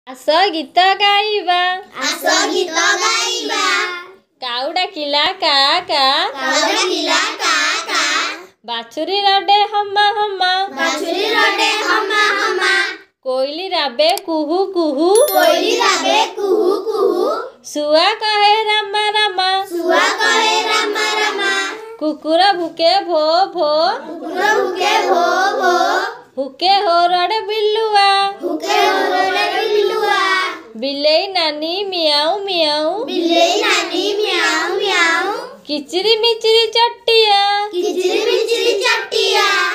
ଆସ ଗୀତ ଗାଇବା। ଆସ ଗୀତ ଗାଇବା। କାଉ ଡାକିଲା କା କା। କାଉ ଡାକିଲା କା କା। ବାଛୁରୀ ରଡେ ହମା ହମା। ବାଛୁରୀ ରଡେ ହମା ହମା। କୋଇଲି ରାବେ କୁହୁ କୁହୁ। କୋଇଲି ରାବେ କୁହୁ କୁହୁ। ଶୁଆ କହେ ରାମା ରାମା। ଶୁଆ କହେ ରାମା ରାମା। କୁକୁର ଭୁକେ ଭୋ ଭୋ। କୁକୁର ଭୁକେ ଭୋ ଭୋ। ହୁକେ ହୋରଡେ ବିଲୁଆ। ହୁକେ ହୋରଡେ ବିଲୁଆ। ବିଲେଇ ନାନୀ ମିଆଁଉ ମିଆଁଉ। ବିଲେଇ ନାନୀ ମିଆଁଉ ମିଆଁଉ। କିଚିରି ମିଚିରି ଚଟିଆ। କିଚିରି ମିଚିରି ଚଟିଆ।